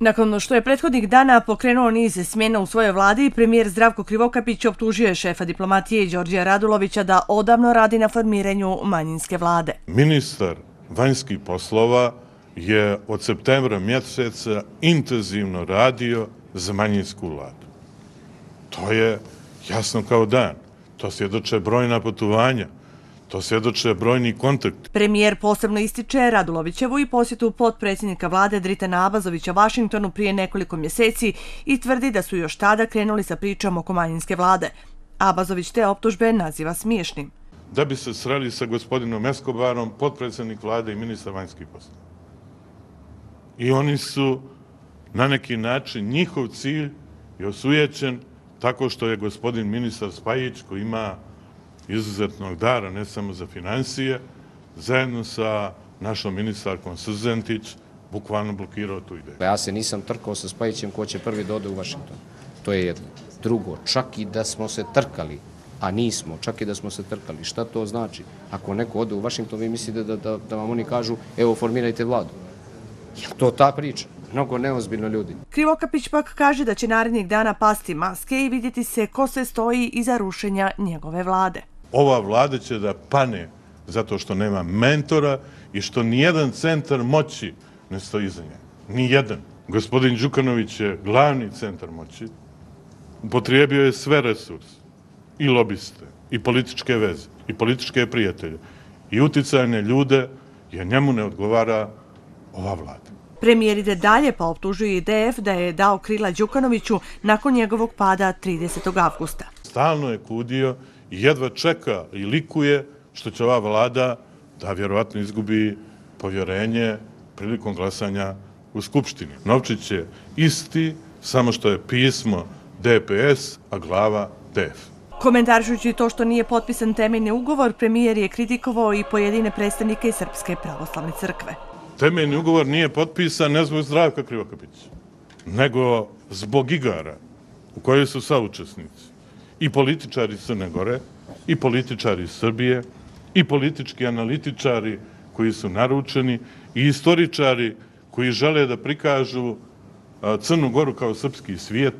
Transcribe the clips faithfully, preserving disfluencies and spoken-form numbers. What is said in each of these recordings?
Nakon što je prethodnih dana pokrenuo niz smjena u svojoj vladi, premijer Zdravko Krivokapić optužio je šefa diplomatije Đorđa Radulovića da odavno radi na formiranju manjinske vlade. Ministar vanjskih poslova je od septembra mjeseca intenzivno radio za manjinsku vladu. To je jasno kao dan. To svjedoče brojna putovanja. To svjedoče brojni kontakti. Premijer posebno ističe Radulovićevu i posjetu potpredsjednika vlade Dritana Abazovića Vašingtonu prije nekoliko mjeseci i tvrdi da su još tada krenuli sa pričom oko manjinske vlade. Abazović te optužbe naziva smiješnim. Da bi se sreli sa gospodinom Escobarom, potpredsjednik vlade i ministar vanjskih poslova. I oni su na neki način, njihov cilj je osujećen tako što je gospodin ministar Spajić, koji ima izuzetnog dara, ne samo za financije, zajedno sa našom ministarkom Srzentić, bukvalno blokirao tu ideju. Ja se nisam trkao sa Spajićem ko će prvi da ode u Vašington. To je jedno. Drugo, čak i da smo se trkali, a nismo, čak i da smo se trkali, šta to znači? Ako neko ode u Vašington, vi mislite da, da, da vam oni kažu, evo, formirajte vladu. Je to ta priča? Mnogo neozbiljno ljudi. Krivokapić pak kaže da će narednih dana pasti maske i vidjeti se ko se stoji iza rušenja njegove vlade. Ova vlada će da pane zato što nema mentora i što nijedan centar moći ne stoji iza nje. Nijedan. Gospodin Đukanović je glavni centar moći. Upotrijebio je sve resurse, i lobiste, i političke veze, i političke prijatelje, i uticajne ljude, jer njemu ne odgovara ova vlada. Premijer ide dalje pa optužuje i D F da je dao krila Đukanoviću nakon njegovog pada tridesetog avgusta. Stalno je kudio i jedva čeka i likuje što će ova vlada da vjerovatno izgubi povjerenje prilikom glasanja u Skupštini. Novčić je isti, samo što je pismo D P S, a glava D F. Komentarišući to što nije potpisan temeljni ugovor, premijer je kritikovao i pojedine predstavnike iz Srpske pravoslavne crkve. Temeljni ugovor nije potpisan ne zbog Zdravka Krivokapića, nego zbog igara u kojoj su saučesnici i političari Crne Gore, i političari Srbije, i politički analitičari koji su naručeni, i istoričari koji žele da prikažu Crnu Goru kao srpski svijet,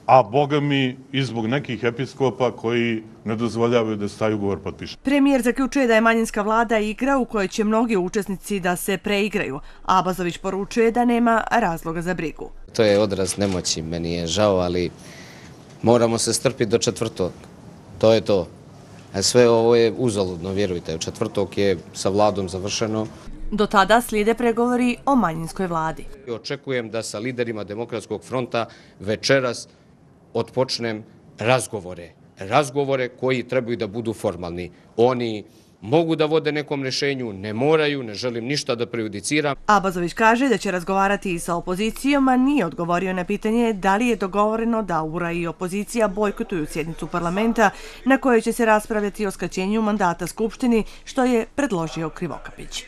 a boga mi i zbog nekih episkopa koji ne dozvoljavaju da se taj ugovor potpiše. Premijer zaključuje da je manjinska vlada igra u kojoj će mnogi učesnici da se preigraju. Abazović poručuje da nema razloga za brigu. To je odraz nemoći, meni je žao, ali moramo se strpiti do četvrtog. To je to. A sve ovo je uzaludno, vjerujte. Četvrtog je sa vladom završeno. Do tada slijede pregovori o manjinskoj vladi. Očekujem da sa liderima Demokratskog fronta večeras otpočnem razgovore. Razgovore koji trebaju da budu formalni. Oni mogu da vode nekom rješenju, ne moraju, ne želim ništa da prejudiciram. Abazović kaže da će razgovarati i sa opozicijom, a nije odgovorio na pitanje da li je dogovoreno da U R A i opozicija bojkotuju sjednicu parlamenta na kojoj će se raspravljati o skraćenju mandata Skupštini, što je predložio Krivokapić.